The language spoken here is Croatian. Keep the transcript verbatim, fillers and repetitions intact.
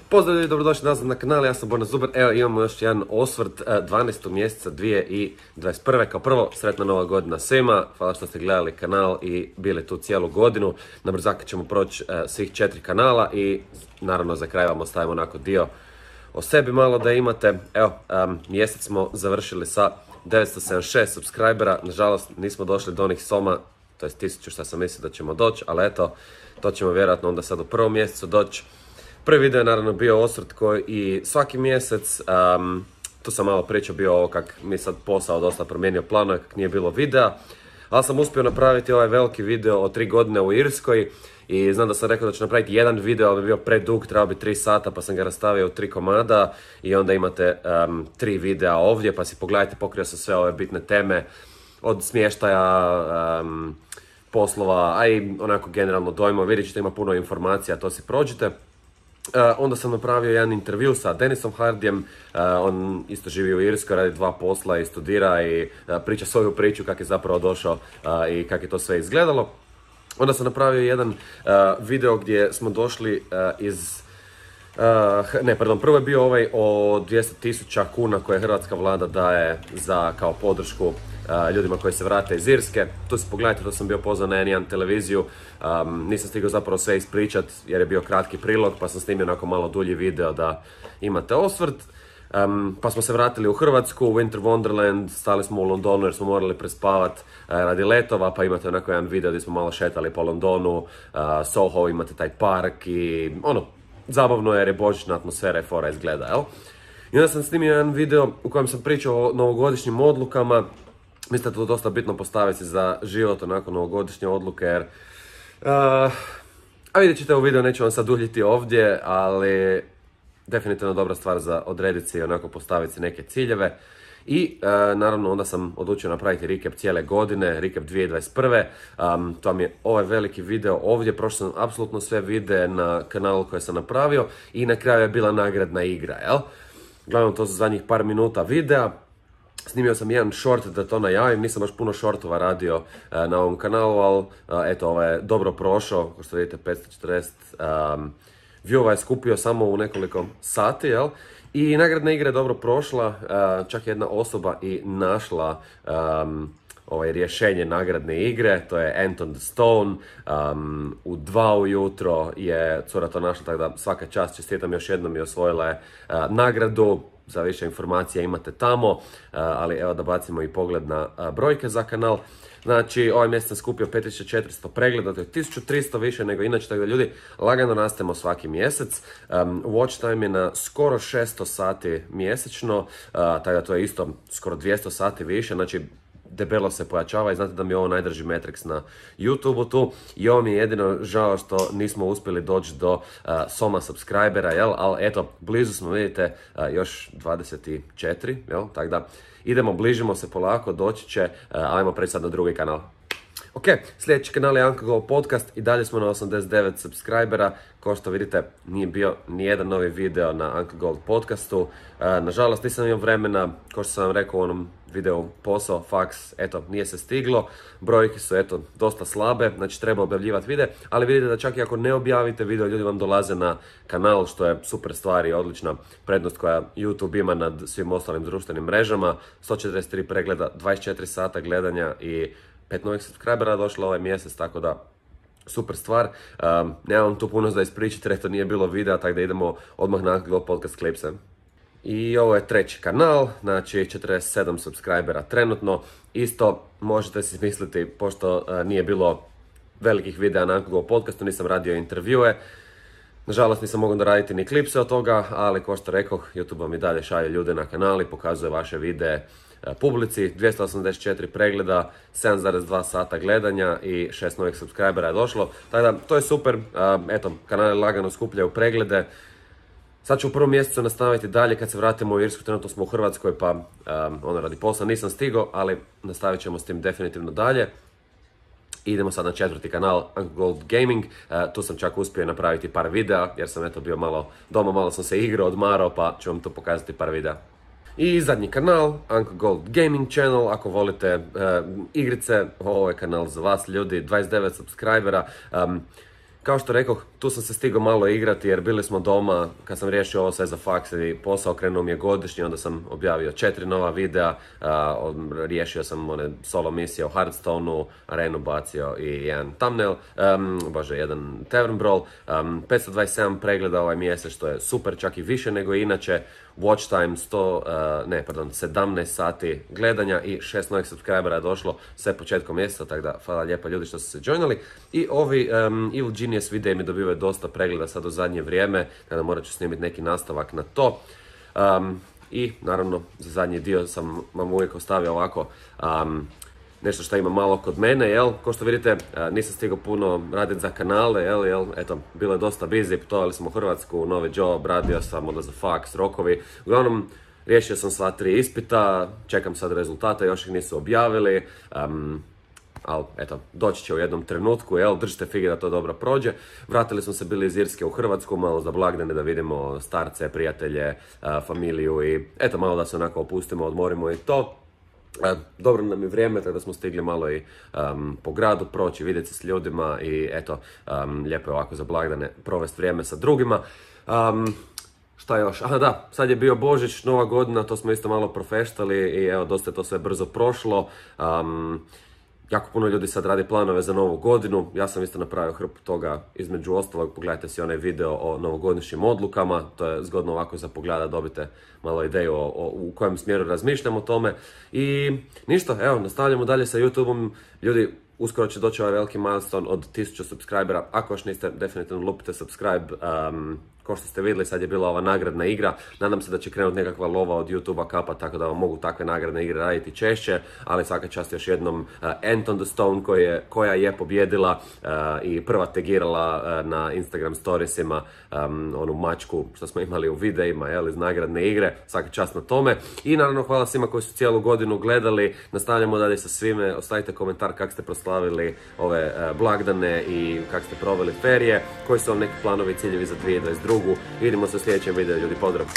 Pozdrav i dobrodošli nazad na kanal, ja sam Borna Zuber. Evo imamo još jedan osvrt dvanaestog mjeseca dvije tisuće dvadeset prve. Kao prvo, sretna nova godina svima. Hvala što ste gledali kanal i bili tu cijelu godinu. Na brzaka ćemo proći uh, svih četiri kanala i naravno za kraj vam ostavimo onako dio o sebi malo da imate. Evo, um, mjesec smo završili sa devetsto sedamdeset šest subscribera. Nažalost nismo došli do onih soma, to je tisuću što sam mislio da ćemo doći, ali eto, to ćemo vjerojatno onda sad u prvom mjesecu doći. Prvi video je naravno bio osvrt koji i svaki mjesec, um, tu sam malo pričao bio ovo kak mi sad posao dosta promijenio planove, kak nije bilo videa, ali sam uspio napraviti ovaj veliki video o tri godine u Irskoj i znam da sam rekao da ću napraviti jedan video, ali bi bio predug, trebao bi tri sata pa sam ga rastavio u tri komada i onda imate um, tri videa ovdje pa si pogledajte, pokrio sam sve ove bitne teme od smještaja, um, poslova, a i onako generalno dojmo, vidjet ćete ima puno informacija, to si prođite. Uh, onda sam napravio jedan intervju sa Denisom Hardijem, uh, on isto živi u Irskoj, radi dva posla i studira i uh, priča svoju priču kako je zapravo došao uh, i kako je to sve izgledalo. Onda sam napravio jedan uh, video gdje smo došli uh, iz... Uh, ne, pardon, prvo je bio ovaj o dvjesto tisuća kuna koje hrvatska vlada daje za kao podršku uh, ljudima koji se vrate iz Irske. Tu si pogledajte, to sam bio pozvan na en jedan televiziju, um, nisam stigao zapravo sve ispričat jer je bio kratki prilog pa sam snimio onako malo dulji video da imate osvrt. Um, pa smo se vratili u Hrvatsku, u Winter Wonderland, stali smo u Londonu jer smo morali prespavat uh, radi letova, pa imate onako jedan video gdje smo malo šetali po Londonu, uh, Soho, imate taj park i ono, zabavno jer je božićna atmosfera i fora izgleda, jel? I onda sam snimio jedan video u kojem sam pričao o novogodišnjim odlukama. Mislim da je to dosta bitno postaviti za život, onako novogodišnje odluke, jer... Uh, a vidjet ćete u video, neću vam sad duljiti ovdje, ali definitivno dobra stvar za odrediti si i onako postaviti si neke ciljeve. I uh, naravno onda sam odlučio napraviti recap cijele godine, recap dvije tisuće dvadeset prve. Um, to vam je ovaj veliki video ovdje, prošao sam apsolutno sve videe na kanalu koje sam napravio i na kraju je bila nagradna igra, jel? Glavno to su zadnjih par minuta videa. Snimio sam jedan short da to najavim, nisam baš puno shortova radio uh, na ovom kanalu, ali uh, eto, ovaj je dobro prošao, kao što vidite petsto četrdeset um, viewova je skupio samo u nekoliko sati, jel? I nagradna igra je dobro prošla, uh, čak jedna osoba i našla um, ovaj rješenje nagradne igre, to je Anton the Stone, um, u dva ujutro je cura to našla, tako da svaka čast, čestitam još jednom i osvojila je uh, nagradu. Za više informacija imate tamo, uh, ali evo da bacimo i pogled na uh, brojke za kanal. Znači, ovaj mjesec sam skupio pet tisuća četiristo pregleda, to je tisuću tristo više nego inače, tako da ljudi lagano rastemo svaki mjesec. Um, watch time je na skoro šesto sati mjesečno, uh, tako da to je isto skoro dvjesto sati više, znači debelo se pojačava i znate da mi je ovo najdrži Matrix na YouTube-u tu i ovo mi je jedino žao što nismo uspjeli doći do uh, soma subscribera, jel? Ali eto, blizu smo, vidite, uh, još dvadeset četiri, jel? Tako da idemo, bližimo se polako, doći će, uh, ajmo preći sad na drugi kanal. Ok, sljedeći kanal je Uncle Gold Podcast i dalje smo na osamdeset devet subscribera. Kao što vidite, nije bio nijedan novi video na Uncle Gold Podcastu. Uh, nažalost, nisam imao vremena, kao što sam vam rekao u onom videu, posao, faks, eto, nije se stiglo. Brojke su, eto, dosta slabe, znači treba objavljivati videe, ali vidite da čak i ako ne objavite video, ljudi vam dolaze na kanal, što je super stvar i odlična prednost koja YouTube ima nad svim ostalim društvenim mrežama. sto četrdeset tri pregleda, dvadeset četiri sata gledanja i pet novih subscribera došlo ovaj mjesec, tako da super stvar. Um, nemam tu puno za ispričati jer to nije bilo videa, tako da idemo odmah na Uncle Gold Podcast klipse. I ovo je treći kanal, znači četrdeset sedam subscribera trenutno. Isto možete si misliti, pošto uh, nije bilo velikih videa na Uncle Gold Podcastu, nisam radio intervjue. Nažalost nisam mogao raditi ni klipse od toga, ali kao što rekoh, YouTube vam i dalje šalje ljude na kanal i pokazuje vaše videe publici. Dvjesto osamdeset četiri pregleda, sedam zarez dva sata gledanja i šest novih subscribera je došlo. Tako da, to je super, eto, kanali lagano skupljaju preglede. Sad ću u prvom mjesecu nastaviti dalje kad se vratimo u Irsku, trenutno smo u Hrvatskoj pa um, ono radi posla nisam stigao, ali nastavit ćemo s tim definitivno dalje. Idemo sad na četvrti kanal, Uncle Gold Gaming, uh, tu sam čak uspio napraviti par videa jer sam eto bio malo doma, malo sam se igrao, odmarao pa ću vam to pokazati par videa. I zadnji kanal, Uncle Gold Gaming Channel, ako volite uh, igrice, ovo je kanal za vas ljudi, dvadeset devet subscribera. Um, kao što rekoh, tu sam se stigao malo igrati jer bili smo doma, kad sam riješio ovo sve za faks i posao, krenuo mi je godišnji, onda sam objavio četiri nova videa, uh, riješio sam one solo misije o Hearthstoneu, arenu bacio i jedan thumbnail, um, bože, jedan tavern brawl, um, petsto dvadeset sedam pregleda ovaj mjesec, što je super, čak i više nego inače, watch time sto, uh, ne, pardon, sedamnaest sati gledanja i šest novih subscribera je došlo sve početkom mjeseca, tako da hvala lijepa ljudi što su se joinali. I ovi um, Evil Genius videi mi dobivaju dosta pregleda sad u zadnje vrijeme, kada morat ću snimiti neki nastavak na to. Um, I naravno za zadnji dio sam vam uvijek ostavio ovako um, nešto što ima malo kod mene, jel? Ko što vidite, nisam stigao puno raditi za kanale, jel, jel, eto, bilo je dosta busy, putovali smo u Hrvatsku, novi job, radio sam, onda za faks, rokovi. Uglavnom, riješio sam sva tri ispita, čekam sad rezultate, još ih nisu objavili, um, ali eto, doći će u jednom trenutku, jel, držite fige da to dobro prođe. Vratili smo se bili iz Irske u Hrvatsku, malo za blagdane da vidimo starce, prijatelje, familiju i eto, malo da se onako opustimo, odmorimo i to. Dobro nam je vrijeme, tako da smo stigli malo i um, po gradu proći, vidjeti se s ljudima i eto, um, lijepo je ovako za blagdane provesti vrijeme sa drugima. Um, šta još? Aha da, sad je bio Božić, Nova godina, to smo isto malo profeštali i evo, dosta je to sve brzo prošlo. Um, Jako puno ljudi sad radi planove za novu godinu, ja sam isto napravio hrpu toga, između ostalog pogledajte si onaj video o novogodišnjim odlukama, to je zgodno ovako za pogled da dobite malo ideju o, o, u kojem smjeru razmišljam o tome. I ništa, evo, nastavljamo dalje sa YouTubeom, ljudi, uskoro će doći ovaj veliki milestone od tisuću subscribera, ako još niste, definitivno lupite subscribe. Um, Ko što ste vidjeli, sad je bila ova nagradna igra. Nadam se da će krenuti nekakva lova od YouTube-a kapa, tako da vam mogu takve nagradne igre raditi češće, ali svaka čast još jednom uh, Ant on the Stone koji je, koja je pobjedila uh, i prva tegirala uh, na Instagram storiesima um, onu mačku što smo imali u videima, jel, iz nagradne igre. Svaka čast na tome. I naravno hvala svima koji su cijelu godinu gledali. Nastavljamo dalje sa svime. Ostavite komentar kako ste proslavili ove uh, blagdane i kako ste proveli ferije. Koji su vam neki planovi i ciljevi za dvije hiljade dvadeset druge. Vidimo se u sljedećem videu, ljudi, pozdrav!